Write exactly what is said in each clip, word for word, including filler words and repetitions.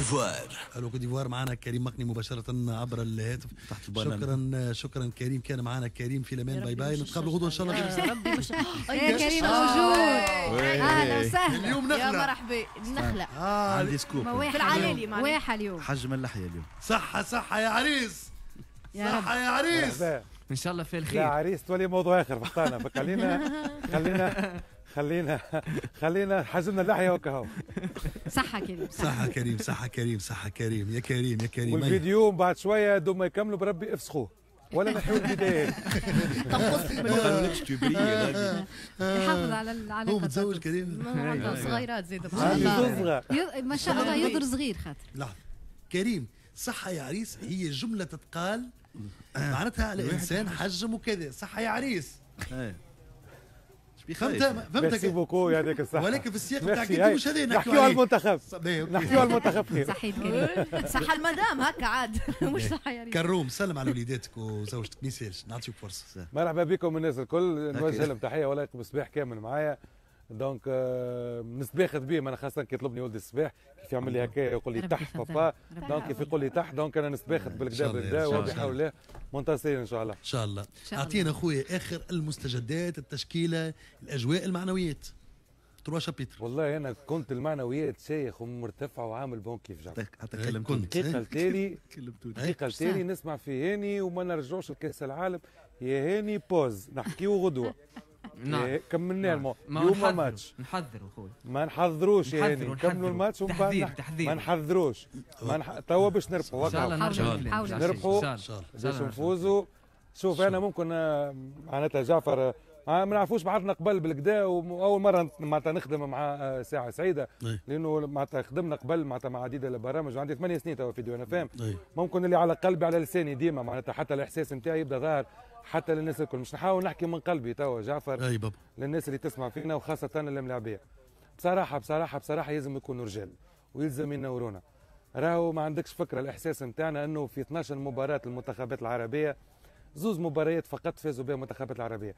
ديفوار. الو كوت ديفوار، معنا كريم مقني مباشرة عبر الهاتف. تحت البنان. شكرا شكرا كريم، كان معنا كريم في الامان. bye bye، نتقابلوا غدوه ان شاء الله. يا ربي مش يا كريم موجود، اهلا وسهلا. اليوم يا نخله. مرحبا النخله. آه عندي scoop. في العلالي معناها. واحة اليوم. حجم اللحية اليوم. صحة صحة يا عريس. يا رب. صحة يا عريس. مرحبا. ان شاء الله في لا الخير. عريس تولي موضوع اخر فخطانا، فخلينا خلينا خلينا خلينا حجمنا اللحية وكهو. صحة كريم. صحة كريم، صحة كريم، صحة كريم، يا كريم يا كريم. والفيديو بعد شوية دوم ما يكملوا بربي افسخوه ولا نحيو البدايات. تنقص ما قالولكش تبري غادي. يحافظ على العلاقة. هو متزوج كريم؟ عنده صغيرات زيد. عندي زوز صغار. يض- ما شاء الله يضر صغير خاطر. لحظة كريم، صحة يا عريس هي جملة تتقال معناتها على إنسان حجم وكذا، صحة يا عريس. إيه. شبيه فهمت؟ خايف؟ فهمت؟ merci beaucoup، يعطيك الصحه. ولكن في السياق بتاع ميرسي. كنت مش هذا نحكيو نحكيو على عليه. المنتخب. باهي، okay. نحكيو على المنتخب خير. صحيت كريم. صح المدام هكا عاد مش صح يا ريت. كروم، سلم على وليداتك وزوجتك، ما يسالش نعطيك فرصة. مرحبا بكم الناس الكل، نوجه هكا. لهم تحية ولا بصباح كامل معايا، donc آه، نسباخت بيه انا، خاصة كي يطلبني ولدي الصباح كيف يعمل لي هكا يقول لي ربي تح يفضل. بابا. ربي donc كيف يقول لي تح، donc انا نسباخت إن بالكدا شاء الله، بالكدا إن شاء وبحول الله منتصرين ان شاء الله. ان شاء الله. شاء الله. اعطينا خويا اخر المستجدات، التشكيله، الاجواء، المعنويات، trois chapitres. والله انا كنت المعنويات شايخ ومرتفعه وعامل bon كيف جعفر. حتى إيه، كلمتوني. كنت. دقيقة التالي كلمتوني. دقيقة التالي نسمع في هاني وما نرجعوش لكاس العالم. يا هاني pause، نحكيو غدوه. نعم. إيه، كملنا المو ما اليوم نحذروا- ماتش. نحذروا خويا. ما نحضروش يا هاني. نحذروا، نكملوا نحذروا. الماتش ومن بعد تحذير، نح- تحذير. ما نحضروش، ما نح... توا باش نربحوا. ان شاء الله وكهو. نرجعوا حاولوا، للكلام. حاولوا. نربحوا. ان شاء ان شاء الله. باش نفوزوا. شوف انا ممكن آه، معناتها جعفر آه، ما نعرفوش بعضنا قبل بالكدا، واول مرة معناتها نخدم مع آه، ساعة سعيده. أي. لانه معناتها خدمنا قبل معناتها مع عديد البرامج، وعندي ثمانية سنين توا في ديوان فام. أي. ممكن اللي على قلبي على لساني ديما، معناتها حتى الاحساس نتاعي يبدا ظاهر حتى للناس الكل. مش نحاول نحكي من قلبي توا جعفر اي بابا. للناس اللي تسمع فينا وخاصة الملاعبية. بصراحة بصراحة بصراحة يلزم يكونوا رجال ويلزم ينورونا. راهو ما عندكش فكرة الإحساس نتاعنا أنه في اثناش مباراة المنتخبات العربية، زوز مباريات فقط فازوا بها المنتخبات العربية.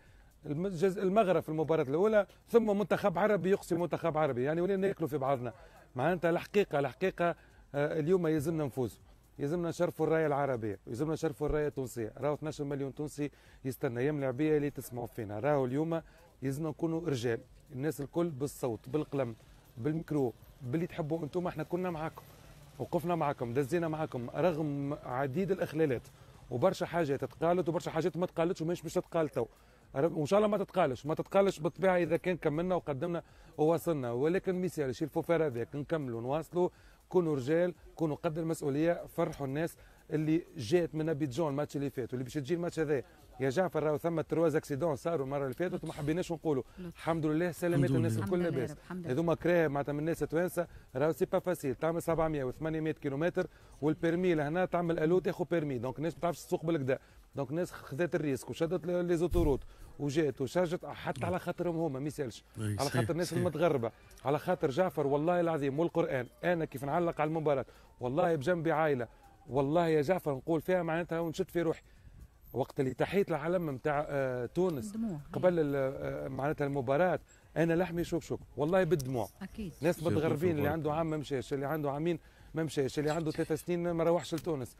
المجز- المغرب في المباراة الأولى، ثم منتخب عربي يقصي منتخب عربي، يعني ولينا ناكلوا في بعضنا. معناتها الحقيقة الحقيقة آه، اليوم يلزمنا نفوز، يلزمنا نشرفوا الراية العربية، يلزمنا نشرفوا الراية التونسية. راهو اثناش مليون تونسي يستنى. يا ملاعبيه اللي تسمعوا فينا، راهو اليوم يلزمنا نكونوا رجال، الناس الكل بالصوت، بالقلم، بالميكرو، باللي تحبوا انتم. احنا كنا معاكم، وقفنا معاكم، دزينا معاكم رغم عديد الاخلالات وبرشا حاجات تقالت وبرشا حاجات ما تقالتش وماهيش باش تتقال تو، وان شاء الله ما تتقالش، ما تتقالش بالطبيعة اذا كان كملنا وقدمنا ووصلنا. ولكن ميسالش، il faut faire avec، نكملوا نواصلوا. كونوا رجال، كونوا قد المسؤوليه، فرحوا الناس اللي جات من ابيجون الماتش اللي فات واللي باش تجي الماتش هذا. يا جعفر راهو ثم trois accidents صاروا المرة اللي فاتت وما حبيناش نقولوا. الحمد لله سلامات الناس الكل لاباس. هذوما كراه معناتها من الناس التوانسه، راهو c'est pas facile تعمل سبعمية و ثمنمية كيلومتر وال permis لهنا تعمل الو تاخذ permis، donc الناس ما تعرفش تسوق بالكدا، donc الناس خذت ال risque وشدت les autoroutes وجات وشجت حتى على خاطرهم هما ما يسالش، على خاطر الناس المتغربه، على خاطر جعفر والله العظيم والقران انا كيف نعلق على المباراة والله بجنبي عائله، والله يا جعفر نقول فيها معناتها ونشد في روحي وقت اللي تحية العلم نتاع آه، تونس قبل آه، معناتها المباراة انا لحمي شوك شوك والله بالدموع. اكيد. ناس متغربين، اللي عنده عام ما مشاش، اللي عنده عامين ما مشاش، اللي عنده ثلاث سنين ما روحش لتونس.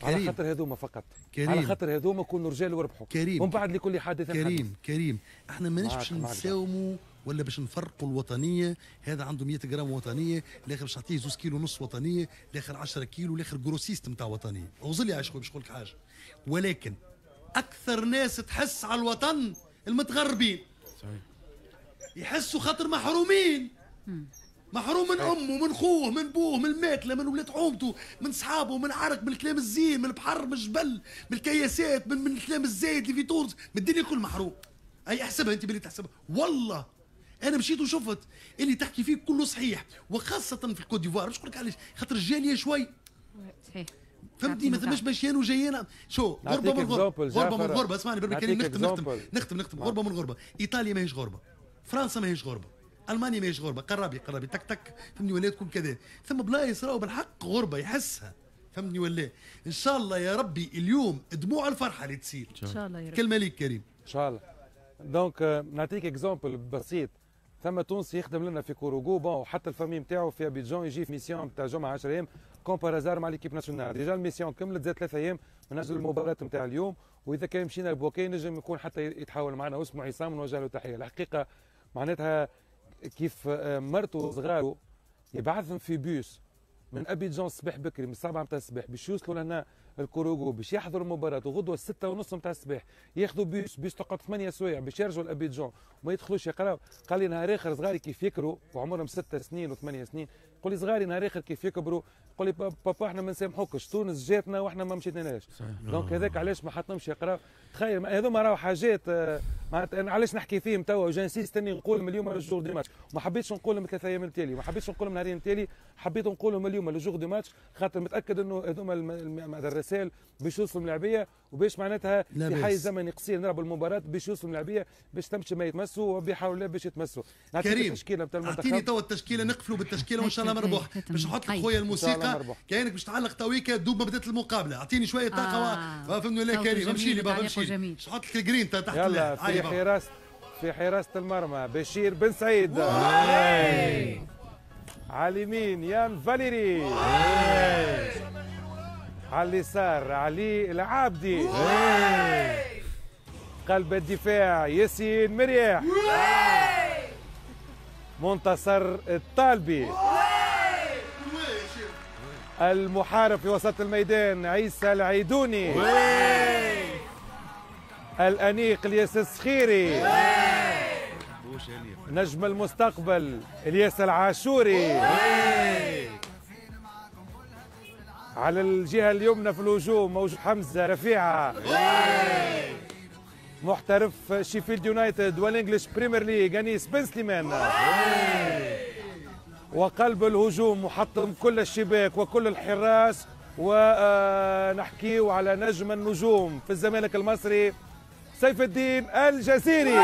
كريم. على خاطر هذوما فقط. كريم. على خاطر هذوما كونوا رجال وربحوا. كريم. ومن بعد لكل حادث كريم حديث. كريم، احنا ماناش باش نساوموا ولا باش نفرقوا الوطنيه، هذا عنده مية غرام وطنيه، الاخر باش نعطيه زوز كيلو ونص وطنيه، الاخر عشرة كيلو، الاخر grossiste نتاع وطنيه. اوزلي عايش خويا باش نقول لك حاجه، ولكن اكثر ناس تحس على الوطن المتغربين. صحيح. يحسوا خاطر محرومين، محروم من امه، من خوه، من بوه، من الماكله، من ولاد حومته، من صحابه، من عرق، من الكلام الزين، من البحر، من الجبل، من الكياسات، من, من الكلام الزايد اللي في تونس، من الدنيا الكل محروم. اي احسبها انت باللي تحسبها. والله انا مشيت وشفت اللي تحكي فيه كله صحيح، وخاصة في الكوت ديفوار. باش نقول لك علاش؟ خاطر الجالية شوي. صحيح. فهمتني؟ ما ثماش مشيان وجايين. شو غربه من غربه، غربه من غربه، اسمعني بربي كريم، نختم نختم نختم نختم. غربه من غربه، ايطاليا ماهيش غربه، فرنسا ماهيش غربه، المانيا ماهيش غربه، قرابي قرابي تك تك، فهمني ولا تكون كذا. ثم بلايص راهو بالحق غربه يحسها، فهمني ولا؟ ان شاء الله يا ربي اليوم دموع الفرحة اللي تسيل. ان شاء الله يا ربي. كلمة ليك كريم. ان شاء الله. donc نعطيك exemple بسيط. ثم تونسي يخدم لنا في كوروغو، bon وحتى ال famille نتاعو في ابيجان، يجي في mission نتاع جمعه عشرة ايام comme par hasard مع l'équipe nationale. déjà ال mission كملت، زاد ثلاثة ايام من اجل المباراة نتاع اليوم، واذا كان مشينا لبوكي نجم يكون حتى يتحاول معنا، واسمه عصام نوجه له تحية. الحقيقة معناتها كيف مرته وصغاره يبعثهم في بيوس من ابيجان الصباح بكري من السبعة نتاع الصباح باش يوصلوا لهنا الكوروغو باش يحضروا المباراة، وغدوه الستة ونص نتاع الصباح ياخذوا bus bus تقعد ثمانية سوايع باش يرجعوا لابيجان وما يدخلوش يقراو. قال لي نهار اخر صغاري كيف يكبروا وعمرهم ستة سنين وثمانية سنين، قول لي صغاري نهار اخر كيف يكبروا قول لي بابا احنا ما نسامحوكش، تونس جاتنا واحنا ما مشيناش. donc هذاك علاش ما حطهمش يقراو. تخيل هذوما راهو حاجات معناتها انا علاش نحكي فيهم توا، j'insiste اني نقول اليوم le jour du match، وما حبيتش نقولهم ثلاث ايام التالي، وما حبيتش نقولهم نهارين التالي، حبيت نقولهم اليوم le jour du match، خاطر متاكد انه هذوما الرسائل باش يوصلوا الملاعبيه، وباش معناتها في حيز زمني قصير نلعبوا المباراة باش يوصلوا الملاعبيه باش تمشي ما يتمسوا وبيحاولوا لا باش يتمسوا. كريم اعطيني توا التشكيلة، نقفلوا بالتشكيله وان شاء الله مربوح. باش نحط لك خويا الموسيقى كانك باش تعلق تويكا دوب ما بدات المقابلة، اعطيني شوية طاقة آه. فهمني ولا كريم؟ امشي لي بابا امشي لي، باش نحط لك الجرين تحت. يلا في حراسة في حراسة المرمى بشير بن سعيد، على اليمين يان فاليري، على اليسار علي العابدي، قلب الدفاع ياسين مرياح، منتصر الطالبي، المحارب في وسط الميدان عيسى العيدوني، الأنيق الياس السخيري، نجم المستقبل الياس العاشوري، على الجهة اليمنى في الهجوم موجود حمزة رفيعة، محترف شيفيلد يونايتد وال English Premier League أنيس بن سليمان، وقلب الهجوم محطم كل الشباك وكل الحراس، ونحكيو على نجم النجوم في الزمالك المصري سيف الدين الجزيري.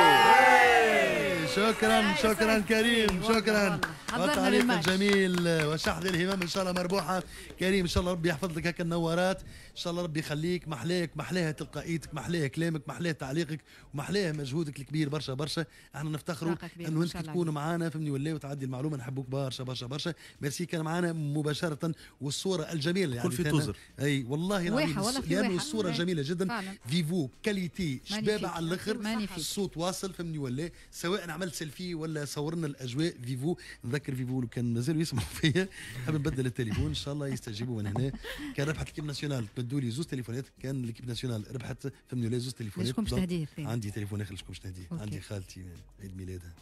شكرا شكرا كريم، شكرا التعليق الجميل وشحذ الهمام، ان شاء الله مربوحه كريم، ان شاء الله ربي يحفظ لك هكا النوارات، ان شاء الله ربي يخليك، محلاك محلاها تلقائيتك، محلاه كلامك، محلاه تعليقك، ومحلاه مجهودك الكبير برشا برشا. احنا نفتخروا انه انت تكون معنا فهمني ولا وتعدي المعلومة، نحبوك برشا برشا برشا. ميرسي، كان معنا مباشرة والصورة الجميلة يعني كل في توزر. اي والله العظيم لانه الصورة جميلة جدا، فيفو qualité شبابه على الاخر، الصوت واصل فهمني ولا، سواء عملت سيلفي ولا صورنا الاجواء فيفو. نذكر فيفو لو كان مازالوا يسمعوا فيا حاب نبدل التليفون ان شاء الله يستجيبوا من هنا. كان ربحت l'équipe nationale تبدوا لي زوز تليفونات، كان l'équipe nationale ربحت فهمني ولا زوز تليفونات. شكون باش تهديه؟ عندي تليفون اخر شكون باش تهديه؟ عندي خالتي عيد ميلادها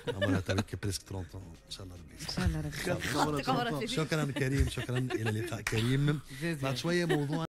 عمرها تبارك presque ثلاثين ان شاء الله ربي ان شاء الله ربي. شكرا كريم، شكرا، الى اللقاء كريم. بعد شوية موضوع